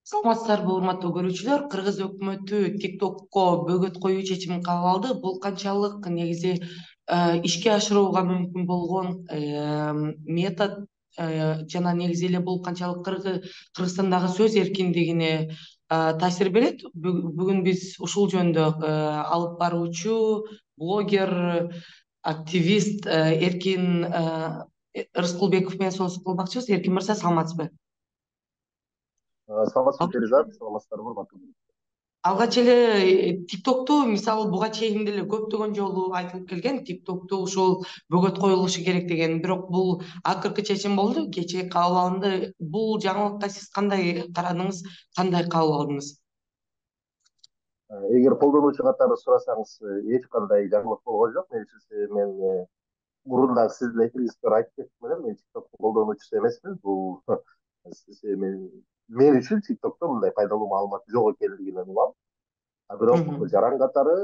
Саламатсыздарбы, урматтуу көрүүчүлөр. Кыргыз өкмөтү TikTokко бөгөт коюу чечимин кабыл алды. Бул канчалык негизи ишке ашырууга мүмкүн болгон метод жана негизи эле бул канчалык Кыргызстандагы сөз эркиндигине таасир берет? Бүгүн биз ушул жөнүндө алып баруучу блогер, активист Эркин Рыскулбеков менен сөз кылмакчыбыз. Эркин мырза, саламатсызбы? Саламатсызбы Перизат, саламатсыздарбы урматтуу. Алгач эле TikTok'ту мисалы буга чейин деле көптөгөн жолу айтылып келген, TikTok'ту ушул бөгөт коюлушу керек деген, бирок бул акыркы чечим болду, кечээ кабыл алынды. Бул жаңылыкка сиз кандай карадыңыз, кандай кабыл алдыңыз? Эгер колдонуучу катары сурасаңыз, эч кандай жаңылык болгон жок. Менимче мен мурун дагы сиздин эфириңизде айтып кеттим эле, мен TikToктун колдонуучусу эмесмин. Бул мен үчүн TikTokто мындай пайдалуу маалымат жок экендигинен улам. Бирок жаран катары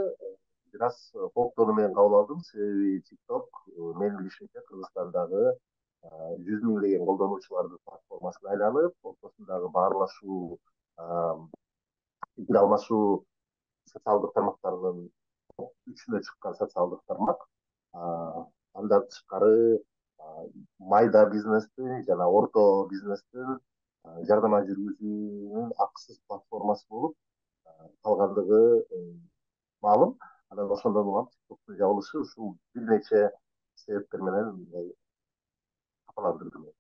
бир аз кооптонуу менен кабыл алдым, себеби TikTok менин билишимче Кыргызстандагы 100 миңдеген колдонуучулардын платформасына айланып, ортосундагы баарлашуу, пикир алмашуу социалдык тармактардын үчүнө чыккан социалдык тармак. Андан тышкары майда бизнестин жана орто бизнестин жардама жүргүзүүнүн акысыз платформасы болуп калгандыгы маалым. Анан ошондон улам TikToктун жабылышы ушул бир нече себептер менен капаландырды мени.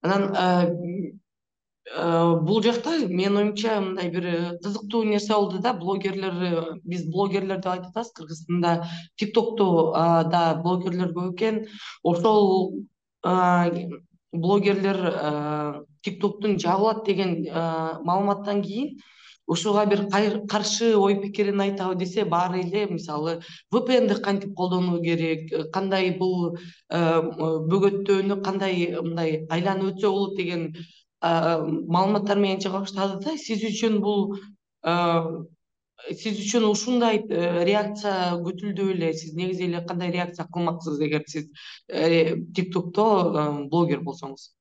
Анан бул жакта менин оюмча мындай бир кызыктуу нерсе болду да. Биз блогерлер деп айтып атабыз Кыргызстанда. TikTok'то да блогерлер көп экен. Ошол блогерлер TikTok'тун жабылат деген маалыматтан кийин ушуга бир каршы ой пикирин айтабы десе, баары эле мисалы VPN'ди кантип колдонуу керек, кандай бул бөгөттөөнү кандай мындай айланып өтсө болот деген маалыматтар менен чыга баштады да. Сиз үчүн ушундай реакция күтүлдү беле? Сиз негизи эле кандай реакция кылмаксыз эгер сиз TikTok'то блогер болсоңуз?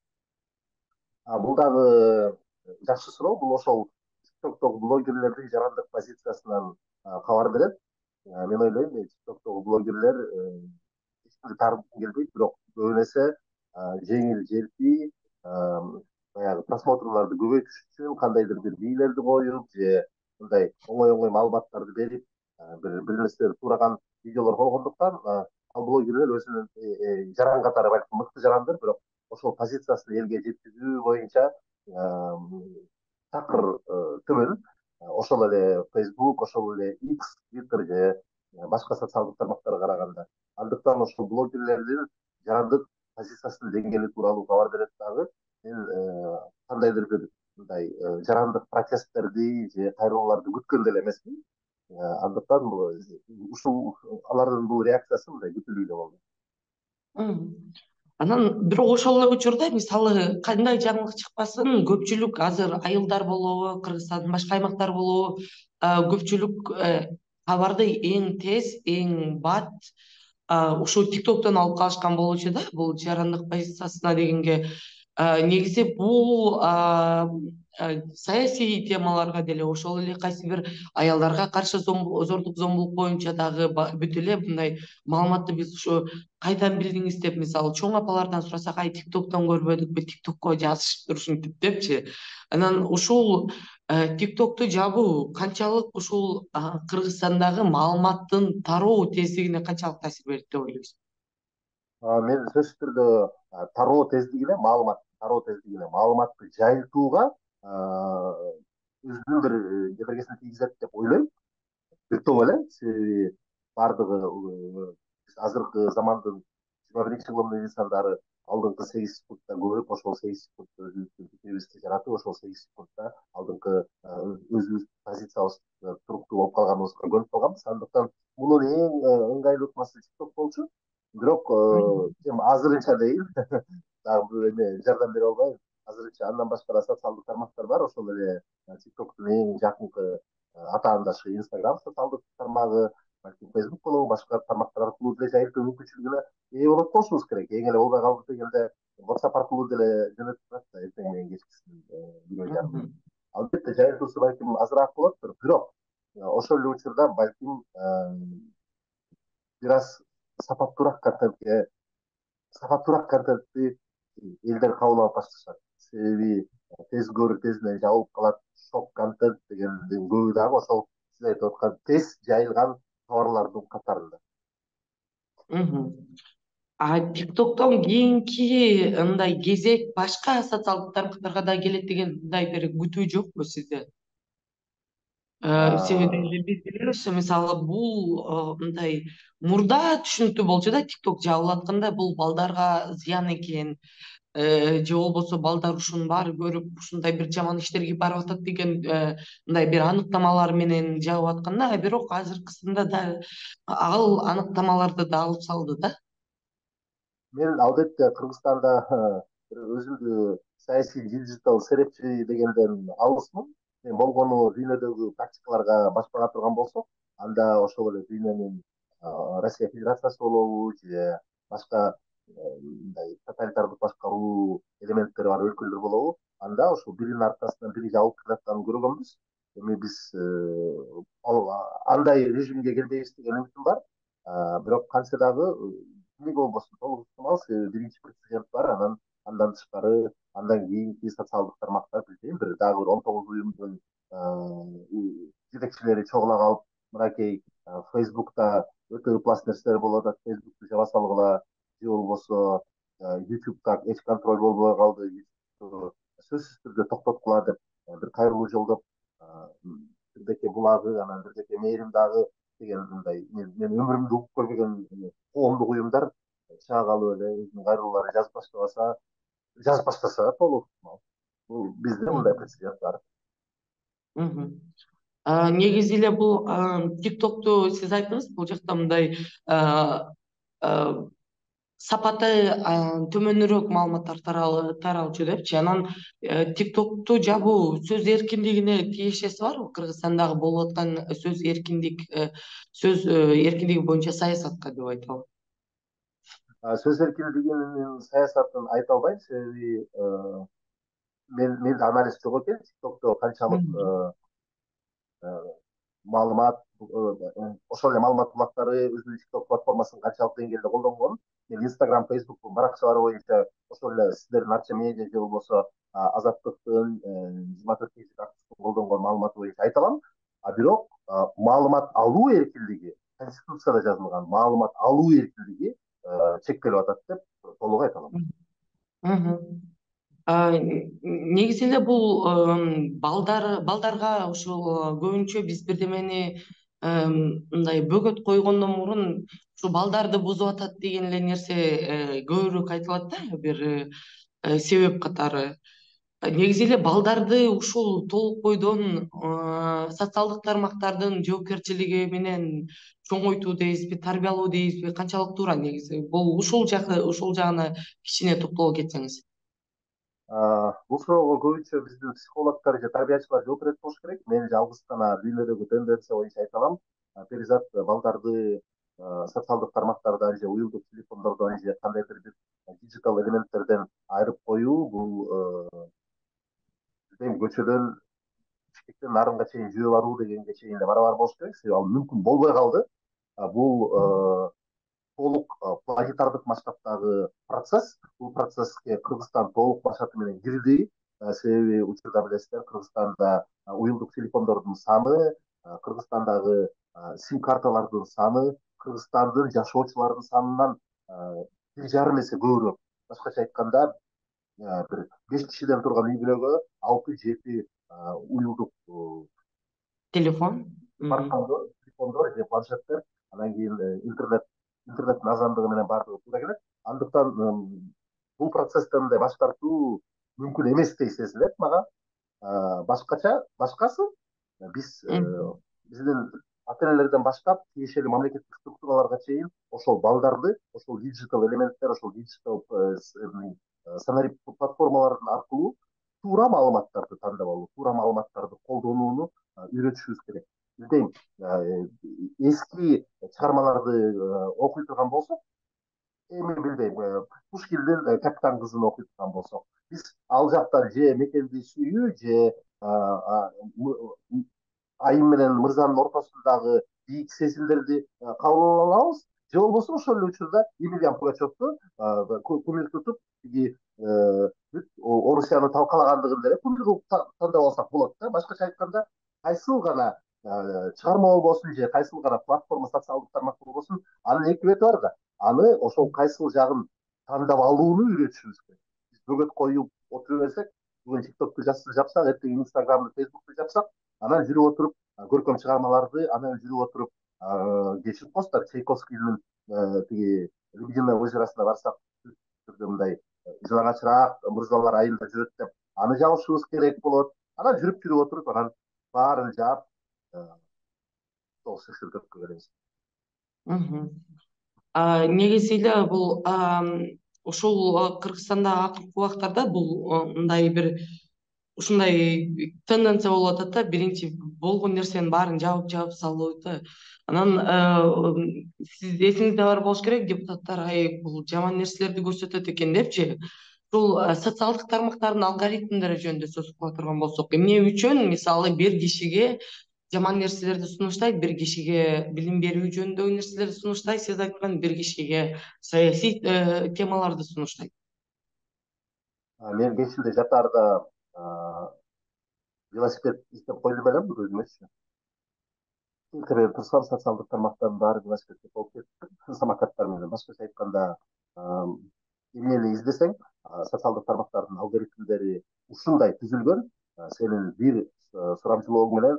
Бул дагы жакшы суроо. Бул ошол TikToктогу блогерлердин жарандык позициясынан кабар берет. Мен ойлойм, TikToктогу блогерлер эч кимди таарынткым келбейт, бирок көбүн эсе жеңил желпий, баягы просмотрларды көбөйтүш үчүн кандайдыр бир бийлерди коюп же мындай оңой маалыматтарды берип, бир нерселерди туураган видеолор койгондуктан ал блогерлер өзүнүн жаран катары балким мыкты жарандыр, бирок ошол позициясын элге жеткизүү боюнча такыр төмөн. Ошол эле Facebook, ошол эле X, Twitter же башка социалдык тармактарга караганда. Андыктан ошол блогерлердин жарандык позициясынын деңгээли тууралуу кабар берет дагы. Мен кандайдыр бир мындай жарандык протесттерди же кайрылууларды күткөн деле эмесмин. Андыктан ушул алардын бул реакциясы мындай күтүлүү эле болду. Анан бирок ошол эле учурда мисалы кандай жаңылык чыкпасын, көпчүлүк азыр айылдар болобу, Кыргызстандын башка аймактары болобу, көпчүлүк кабарды эң тез, эң бат ушул TikToктон алып калышкан болчу да, бул жарандык позициясына дегенге. Негизи бул саясий темаларга деле, ошол эле кайсы бир аялдарга каршы зордук зомбулук боюнча дагы бүт эле мындай маалыматты биз ушу кайдан билдиңиз деп, мисалы чоң апалардан сурасак, TikToктон көрбөдүкпү, TikTokко жазышыптыр ушинтип депчи. Анан ушул TikToкту жабуу канчалык ушул Кыргызстандагы маалыматтын тароо тездигине канчалык таасир берет деп ойлойсуз? Мен сөзсүз түрдө тароо тездигине, маалыматты жайылтууга өзүнүн бир жебергесин тийгизет деп ойлойм. Бир топ эле, себеби баардыгы биз азыркы замандын 21 кылымдын инсандары алдыңкы 8 секундта көрүп, ошол 8 секундта өзүбүздүн пикирибизди жаратып, ошол 8 секундта алдыңкы өзүбүздүн позициябызды туруктуу болуп калганыбызга көнүп калганбыз. Андыктан мунун эң ыңгайлуу ыкмасы TikTok болчу. Бирок азырынча дейм, дагы бир эме жардам бере албайм. Азырынча андан башка да социалдык тармактар бар. Ошол эле TikToктун эң жакынкы атаандашы Instagram социалдык тармагы, балким Facebook болобу, башка тармактар аркылуу деле жайылтуу мүмкүнчүлүгүнө ээ болот болушубуз керек. Эң эле болбой калып дегенде WhatsApp аркылуу деле жөнөтүп турат да эртең менен кечкисин 1:30. Мгм. Албетте жайылтуусу балким азыраак болоттур, бирок ошол эле учурда балким бир аз сапаттуураак контентке сапаттуураак контентти элдер кабыл алып башташат. Себеби тез көрүп тезинен жабылып калат. Шок контент дегендин көбү дагы ошол сиз айтып аткан тез жайылган товарлардын катарында. Мгм. ТикТоктон кийинки мындай кезек башка социалдык тармактарга да келет деген мындай бир күтүү жокпу сизде? Себеби А, эле биз билебиз, мисалы бул мындай мурда түшүнүктүү болчу да, ТикТок жабылып атканда бул балдарга зыян экен, же болбосо балдар ушунун баары көрүп ушундай бир жаман иштерге барып атат деген мындай бир аныктамалар менен жабып атканда, бирок азыркысында да ал аныктамаларды да алып салды да. мен албетте Кыргызстанда өзүмдү саясий диджитал серепчи дегенден алысмын. Мен болгону дүйнөдөгү практикаларга баш бара турган болсок, анда ошол эле дүйнөнүн Россия Федерациясы болобу же башка мындай тоталитардык башкаруу элементтери бар өлкөлөр болобу, анда ошол биринин аркасынан бири жабылып келатканын көргөнбүз. Эми биз андай режимге келбейбиз деген үмүтүм бар. Бирок кантсе дагы эмнеге болбосун толук ыктымал, себеби биринчи президент бар, андан тышкары андан кийинки социалдык тармактар билбейм, бир дагы бир 19 уюмдун жетекчилери чогула калып, мынакей Facebook'та өтө ыплас нерселер болуп атат, Facebook'ту жаба салгыла, же болбосо YouTube'да эч контроль болбой калды, сөзсүз түрдө токтоткула деп бир кайрылуу жолдоп, бирдеке булагы, анан бирдеке мээрим дагы деген мындай мен өмүрүмдө угуп көрбөгөн коомдук уюмдар чыга калып эле өзүнүн кайрылууларын жазып баштаса толук ыктымал. Бул бизде мындай Мгм. прецедент бар. Мгм. Негизи эле бул ТикТокту сиз айттыңыз, бул жакта мындай а, а, сапаты төмөнүрөөк маалыматтар таралчу депчи. Анан ТикТокту жабуу сөз эркиндигине тиешеси барбы? Кыргызстандагы болуп аткан сөз эркиндиги боюнча саясатка деп айталы. Сөз эркиндигинин саясатын айта албайм, себеби менде анализ жок экен. ТикТокто канчалык Мгм. маалымат ошол эле маалымат булактары өзүнүн TikTok платформасын канчалык деңгээлде колдонгон. Мен Instagram, Facebook баракчалары боюнча ошол эле сиздердин Арча медиа же болбосо Азаттыктын 24 активдин колдонгон маалыматы боюнча айта алам. Бирок маалымат алуу эркиндиги Конституцияда жазылган маалымат алуу эркиндиги чектелип атат деп толук айта алам. Мгм. Негизи эле бул балдарга ушул көбүнчө биз бирдемени мындай бөгөт койгондон мурун ушу балдарды бузуп атат деген эле нерсе көбүрөөк айтылат да, бир себеп катары. Негизи эле балдарды ушул толук бойдон социалдык тармактардын жоопкерчилиги менен чоңойтуу дейбизби, тарбиялоо дейбизби, канчалык туура негизи? Бул ушул жагына кичине токтоло кетсеңиз. Бул суроого көбүнчө биздин психологдор же тарбиячылар жооп берет болуш керек. Мен жалгыз гана дүйнөдөгү тенденция боюнча айта алам. Перизат балдарды социалдык тармактардан же уюлдук телефондордон же кандайдыр бир диджитал элементтерден айырып коюу бул билбейм, көчөдөн Бишкектен Нарынга чейин жүрө баруу дегенге чейин да барабар болуш керек. Себеби ал мүмкүн болбой калды. Бул толук планетардык масштабтагы процесс. Бул процесске Кыргызстан толук башаты менен кирди. Себеби учурда билесиздер, Кыргызстанда уюлдук телефондордун саны, Кыргызстандагы сим карталардын саны Кыргызстандын жашоочуларынын санынан 1,5 эсе көбүрөөк. Башкача айтканда, бир 5 кишиден турган үй бүлөгө 6-7 уюлдук Телефон. Мгм. смартфондор, телефондор же планшеттер, анан кийин интернеттин азандыгы менен баардыгы туура келет. Андыктан бул процесстен мындай баш тартуу мүмкүн эместей сезилет мага. Башкасы биз Мгм. биздин ата энелерден баштап тиешелүү мамлекеттик структураларга чейин ошол балдарды, ошол диджитал элементтер, ошол диджитал сценарий платформалардын аркылуу туура маалыматтарды тандап алуу, туура маалыматтарды колдонууну үйрөтүшүбүз керек. Билбейм, эски чыгармаларды окуй турган болсок, эми билбейм, Пушкиндин Капитан кызын окуй турган болсок, биз ал жактан же мекенди сүйүү, же айым менен мырзанын ортосундагы бийик сезимдерди кабыл ала алабыз, же болбосо ошол эле учурда Емельян Пугачевду кумир тутуп тиги бүт Орусияны талкалагандыгын деле кумир кылып тандап алсак болот да. Башкача айтканда, кайсыл гана чыгарма болбосун, же кайсыл гана платформа, социалдык тармак болбосун, анын эки бети бар да. Аны ошол кайсыл жагын тандап алууну үйрөтүшүбүз керек. Биз бөгөт коюп отура берсек, бүгүн тиктокту жапсак, эртең инстаграмды, фейсбукту жапсак, анан жүрүп отуруп көркөм чыгармаларды, анан жүрүп отуруп кечирип коесуздар, Чайковскийдин тиги Лебединое озеросуна барсак, түрдө мындай жалаңачыраак мырзалар айылда жүрөт деп, аны жабышыбыз керек болот. Анан жүрүп отуруп, анан баарын жаап сол шыршырдөккө келебиз. Негизи эле бул ушул Кыргызстанда акыркы убактарда бул мындай бир ушундай тенденция болуп атат да, биринчи болгон нерсенин баарын жабып салуу да. Анан сиз эсиңизде бар болуш керек, депутаттар бул жаман нерселерди көрсөтөт экен депчи. Ушул социалдык тармактардын алгоритмдери жөнүндө сөз кыла турган болсок, эмне үчүн мисалы бир кишиге жаман нерселерди сунуштайт, бир кишиге билим берүү жөнүндөгү нерселерди сунуштайт, сиз айткан бир кишиге саясий темаларды сунуштайт. Мен кечинде жатаарда велосипед издеп койдум элем өзүмөчү. Интернет турсам, социалдык тармактардын баары велосипедке толуп кетти, самокаттар менен. Башкача айтканда, эмнени издесең, социалдык тармактардын алгоритмдери ушундай түзүлгөн, сенин бир сурамчылооң менен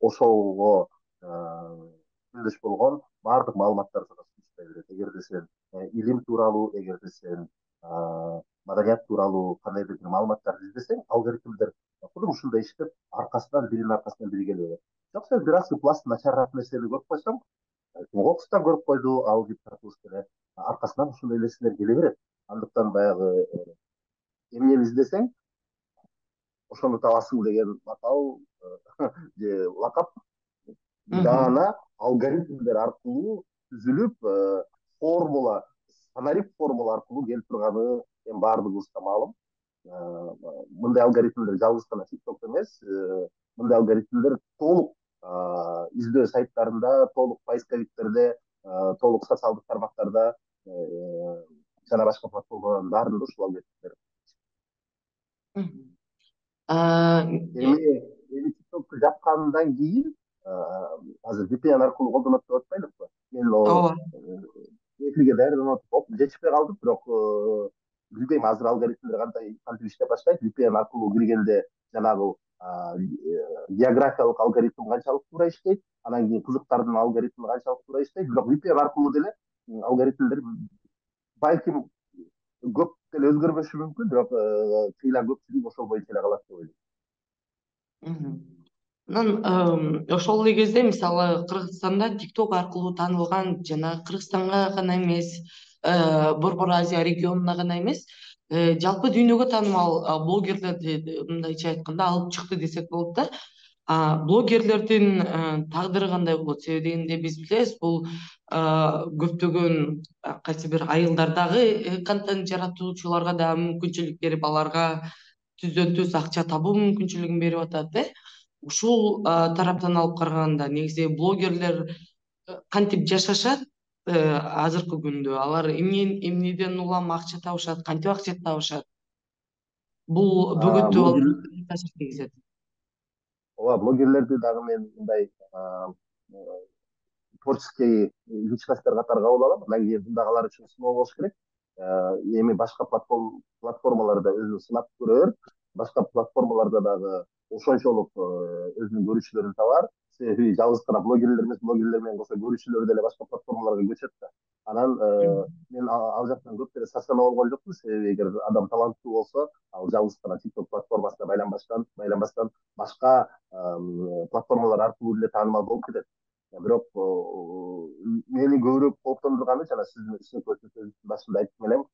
ошого күндөш болгон баардык маалыматтарды да сунуштай берет. Эгерде сен илим тууралуу, эгерде сен маданият тууралуу кандайдыр бир маалыматтарды издесең, алгоритмдер кудум ушундай иштеп, биринин аркасынан бири келе берет. Жок, сен бир аз пласт начарыраак нерсени көрүп койсоң, кокустан көрүп койду ал депутатыбыз деле, аркасынан ушундай нерселер келе берет. Андыктан баягы эмнени издесең, ошону табасың деген макал же лакап даана алгоритмдер аркылуу түзүлүп, формула, санарип формула аркылуу келип турганы эми баардыгыбызга маалым. Мындай алгоритмдер жалгыз гана тиктокто эмес, мындай алгоритмдер толук издөө сайттарында, толук поисковиктерде, толук социалдык тармактарда жана башка платформалардын баарында ушул алгоритмдер. Эми тиктокту жапкандан кийин азыр VPN аркылуу колдонот деп атпайлыкпы? Мен Ооба. эфирге даярданып атып жетишпей калдым, бирок билбейм азыр алгоритмдер кантип иштеп баштайт. VPN аркылуу киргенде жанагы географиялык алгоритм канчалык туура иштейт, анан кийин кызыктардын алгоритми канчалык туура иштейт, бирок VPN аркылуу деле алгоритмдер балким көп деле өзгөрбөшү мүмкүн, бирок чыйла көпчүлүк ошол боюнча эле калат деп ойлойм. Анан ошол эле кезде мисалы Кыргызстанда тикток аркылуу таанылган жана Кыргызстанга гана эмес, Борбор Азия регионуна гана эмес, жалпы дүйнөгө таанымал блогерлерди мындайча айтканда алып чыкты десек болот да. Блогерлердин тагдыры кандай болот? Себеби дегенде биз билебиз, бул көптөгөн кайсы бир айылдардагы контент жаратуучуларга да мүмкүнчүлүк берип, аларга түздөн түз акча табуу мүмкүнчүлүгүн берип атат. Ушул тараптан алып караганда негизи блогерлер кантип жашашат азыркы күндө? Алар эмнеден улам акча табышат, кантип акча табышат? Бул бөгөттүү кандай таасир тийгизет? Ооба, блогерлерди дагы мен мындай творческий личностьтер катары кабыл алам. Андан кийин мындагылар үчүн сыноо болуш керек. Эми башка платформаларда өзүн сынап көрөр, башка платформаларда дагы ошончолук өзүнүн көрүүчүлөрүн табар. Себеби жалгыз гана блогерлер эмес, блогерлер менен кошо көрүүчүлөр деле башка платформаларга көчөт да. Анан мен ал жактан көп деле сарсанаа болгон жокмун, себеби эгер адам таланттуу болсо, ал жалгыз гана TikTok платформасына байланбастан башка платформалар аркылуу деле таанымал болуп кетет. Бирок мени көбүрөөк кооптондурганы, жана сиздин башында айттым элем,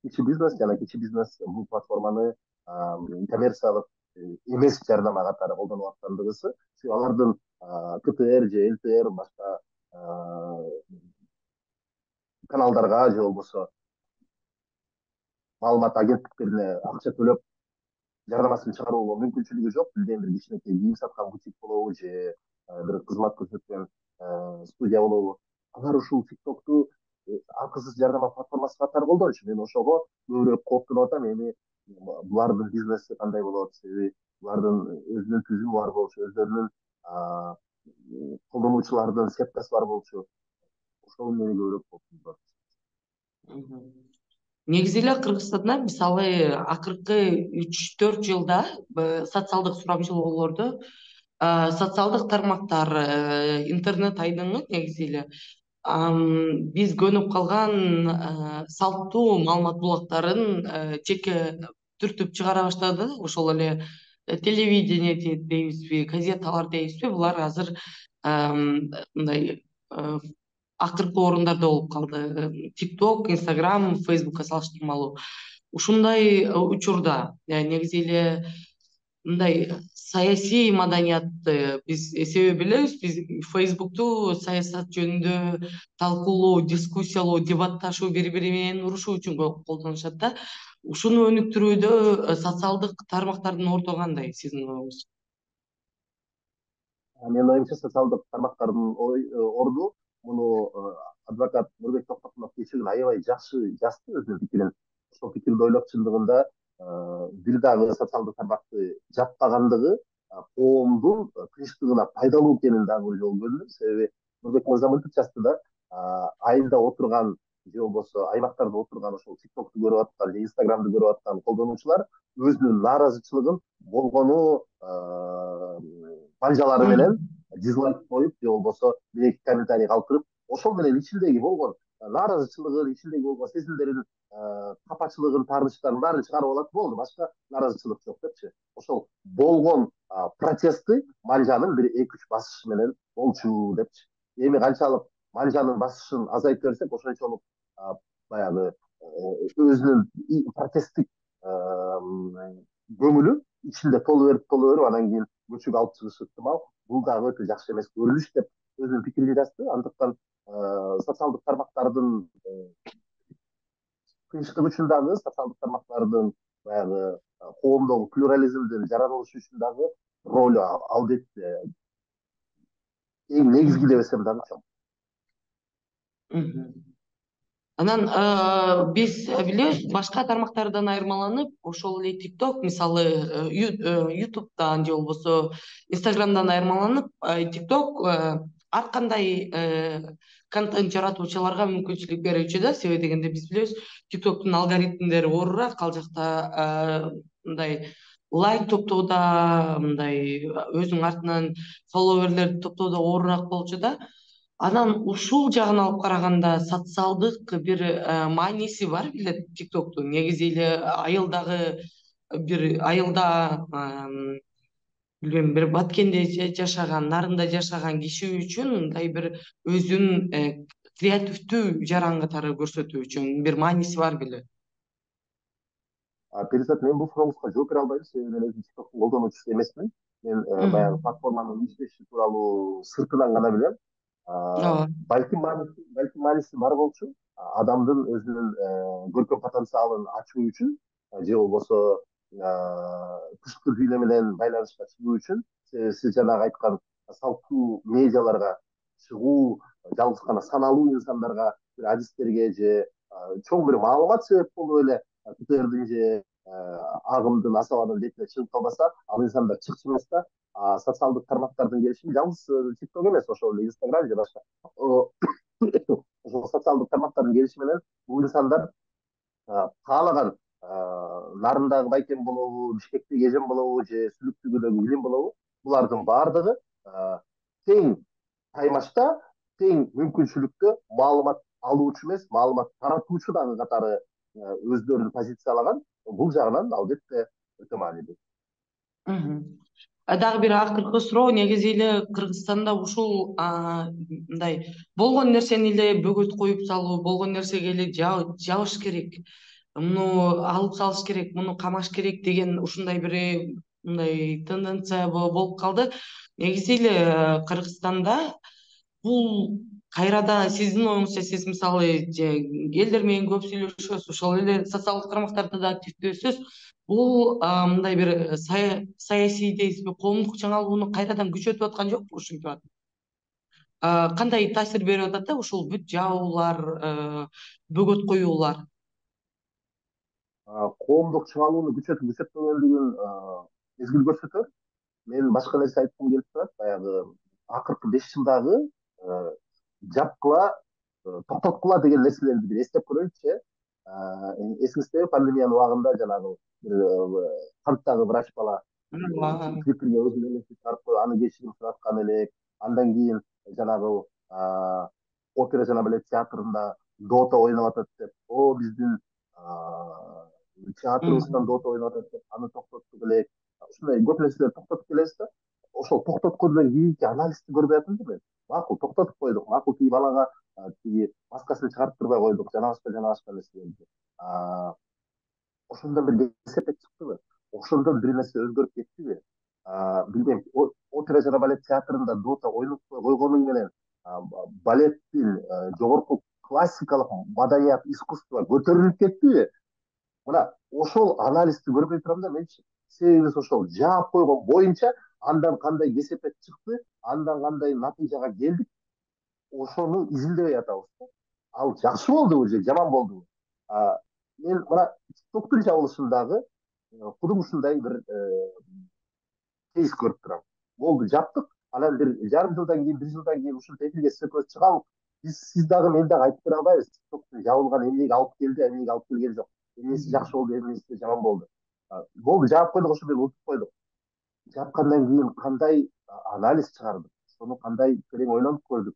кичи бизнес жана кичи бизнес бул платформаны коммерциялык эмес жардама катары колдонуп аткандыгысы. Алардын КТР же ЛТР башка каналдарга же болбосо маалымат агенттиктерине акча төлөп жарнамасын чыгарууга мүмкүнчүлүгү жок. Бирден бир кичинекей кийим саткан бутик болобу же бир кызмат көрсөткөн студия болобу. Алар ушул тиктокту акысыз жардама платформасы катары колдончу. Мен ошого көбүрөөк кооптонуп атам. Эми булардын бизнеси кандай болот? Себеби булардын өзүнүн түзүмү бар болчу, өздөрүнүн колдонуучулардын сеткасы бар болчу. Ошол мени көбүрөөк кооптондурат. Негизи эле Кыргызстанда мисалы акыркы 3-4 жылда социалдык сурамжылоолордо социалдык тармактар, интернет айдыңы негизи эле биз көнүп калган салттуу маалымат булактарын жеке түртүп чыгара баштады. Ошол эле телевидение дейбизби, газеталар дейбизби, булар азыр мындай акыркы орундарда болуп калды. TikTok, Instagram, Facebookка салыштырмалуу. Ушундай учурда негизи эле мындай саясий маданиятты биз себеп билебиз. Биз Facebook'ту саясат жөнүндө талкуулоо, дискуссиялоо, дебатташуу, бири бири менен урушуу үчүн колдонушат да. Ушуну өнүктүрүүдө социалдык тармактардын орду кандай сиздин оюңуз? Менин оюмча социалдык тармактардын орду муну адвокат Нурбек Токтогулов кечээ күнү аябай жакшы жазды өзүнүн пикирин. Ошол пикирди ойлоп чындыгында бир дагы социалдык тармакты жаппагандыгы коомдун тынчтыгына пайдалуу экенин дагы бир жолу көрдүм. Себеби Нурбек мырза мынтип жазды да, айылда отурган же болбосо аймактарда отурган ошол тиктокту көрүп аткан же инстаграмды көрүп аткан колдонуучулар өзүнүн нааразычылыгын болгону банжалары менен дизлайк коюп же болбосо бир эки комментарий калтырып, ошол менен ичиндеги болгон нааразычылыгын, ичиндеги болгон сезимдерин, капачылыгын, таарынычтарын баарын чыгарып алат, болду, башка нааразычылык жок депчи. Ошол болгон протестти манжанын бир 2-3 басышы менен болчу депчи. Эми канчалык манжанын басышын азайтып берсек, ошончолук баягы өзүнүн протесттик көңүлү ичинде толо берип анан кийин көчүгө алып чыгышы ыктымал. Бул дагы өтө жакшы эмес көрүнүш деп өзүнүн пикирин жазды. Андыктан социалдык тармактардын тынчтык үчүн дагы, социалдык тармактардын баягы коомдогу плюрализмдин жаралышы үчүн дагы ролу албетте эң негизги дебесем дагы чоң. Анан биз билебиз, башка тармактардан айырмаланып, ошол эле TikTok, мисалы YouTube'дан же болбосо Instagram'дан айырмаланып, TikTok ар кандай контент жаратуучуларга мүмкүнчүлүк берүүчү да. Себеби дегенде биз билебиз, TikTok'тун алгоритмдери оорураак, ал жакта мындай лайк топтоодо, мындай өзүнүн артынан фолловерлерди топтоодо оорураак болчу да. Анан ушул жагын алып караганда социалдык бир мааниси бар беле TikTok'тун. Негизи эле айылда билбейм, бир Баткенде жашаган, Нарында жашаган киши үчүн мындай бир өзүнүн креативдүү жаран катары көрсөтүү үчүн бир мааниси бар беле? Перизат, мен бул сурооңузга жооп бере албайм, себеби мен өзүм TikToктун колдонуучусу эмесмин. Мен баягы платформанын иштеши тууралуу сыртынан гана билем. Балким мааниси бар болчу. Адамдын өзүнүн көркөм потенциалын ачуу үчүн же болбосо тышкы дүйнө менен байланышка чыгуу үчүн, сиз жанагы айткан салттуу медиаларга чыгуу, жалгыз гана саналуу инсандарга бир адистерге же чоң бир маалымат себеп болуп эле КТРдин же агымдын асабанын бетине чыгып калбаса, ал инсандар чыкчу эмес да. Социалдык тармактардын келишими жалгыз TikTok эмес, ошол эле Instagram же башка ошол социалдык тармактардын келишими менен бул инсандар каалаган Нарындагы Байкем болобу, Бишкектеги Эжем болобу же Сүлүктүгүдөгү Илим болобу, булардын баардыгы тең таймашта, тең мүмкүнчүлүктө маалымат алуучу эмес, маалымат таратуучу дагы катары өздөрүн позициялаган. Бул жагынан албетте өтө маанилүү. Дагы бир акыркы суроо, негизи эле Кыргызстанда ушул мындай болгон нерсени эле бөгөт коюп салуу, болгон нерсеге эле жабыш керек, муну алып салыш керек, муну камаш керек деген ушундай бир мындай тенденция болуп калды. Негизи эле Кыргызстанда бул кайрадан сиздин оюңузча сиз мисалы же элдер менен көп сүйлөшөсүз, ошол эле социалдык тармактарда да активдүүсүз. Бул мындай бир саясий дейсизби, коомдук жаңылууну кайрадан күчөтүп аткан жокпу ушинтип атып? Кандай таасир берип атат да ушул бүт жабуулар, бөгөт коюулар? Коомдук чыңалууну күчөтпөгөндүгүн мезгил көрсөтөт. Мен башка нерсе айткым келип турат. Баягы акыркы 5 жылдагы жапкыла, токтоткула деген нерселерди бир эстеп көрөйүнчү. Эсиңиздеби, пандемиянын убагында жанагы бир канттагы врач бала Твиттерге өзүнүн элесин чыгарып коюп, аны кечирим сураткан элек. Андан кийин жанагы опера жана балет театрында дота ойноп атат деп, биздин театрыбыздан дота ойноп атат деп аны токтоттук элек. Ушундай көп нерселерди токтотуп келебиз да. Ошол токтоткондон кийинки анализди көрбөй атам да мен. Макул, токтотуп койдук. Макул, тиги балага тиги маскасын чыгарып турбай койдук, жана башка нерселерди. Ошондон бир кесепет чыктыбы? Ошондон бир нерсе өзгөрүп кеттиби? Билбейм. Опера жана балет театрында дота ойнотпой койгонуң менен балеттин жогорку классикалык маданият, искусство көтөрүлүп кеттиби? Мына ошол анализди көрбөй турам да менчи. Себеби ошол жаап койгон боюнча андан кандай кесепет чыкты, андан кандай натыйжага келдик, ошону изилдебей атабыз да. Ал жакшы болдубу же жаман болдубу? Мен мына TikToктун жабылышындагы кудум ушундай бир кейс көрүп турам. Болду, жаптык. Анан бир жарым жылдан кийин, 1 жылдан кийин ушинтип эфирге сөкөз чыгабы. Сиз дагы мен дагы айтып бере албайбыз. TikToктун жабылган эмнеге алып келди, эмнеге алып келген жок. Эмнеси жакшы болду, эмнеси жаман болду. Болду, жаап койдук, ошо менен утуп койдук. Жапкандан кийин кандай анализ чыгардык, ошону кандай терең ойлонуп көрдүк.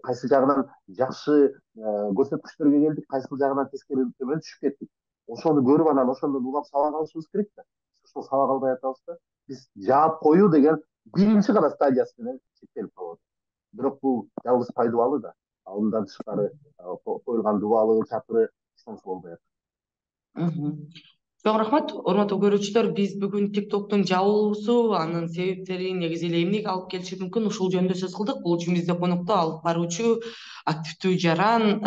Кайсы жагынан жакшы көрсөткүчтөргө келдик, кайсы жагынан тескери төмөн түшүп кеттик. Ошону көрүп, анан ошондон угап сабак алышыбыз керек да. Ошол сабак албай атабыз да. Биз жаап коюу деген биринчи гана стадиясы менен чектелип калып атат. Бирок бул жалгыз пайдубалы да. Андан тышкары коюлган дубалы, чатыры эч нерсе болбой атат. Чоң рахмат, урматтуу көрүүчүлөр. Биз бүгүн TikToктун жабылуусу, анын себептери, негизи эле эмнеге алып келиши мүмкүн, ушул жөнүндө сөз кылдык. Бул үчүн бизде конокто алып баруучу, активдүү жаран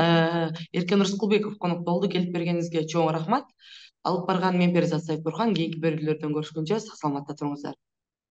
Эркен Рыскулбеков конокто болду. Келип бергениңизге чоң рахмат. Алып барган мен Перизат Сайытбурхан. Кийинки берүүлөрдөн көрүшкөнчө сак саламатта туруңуздар.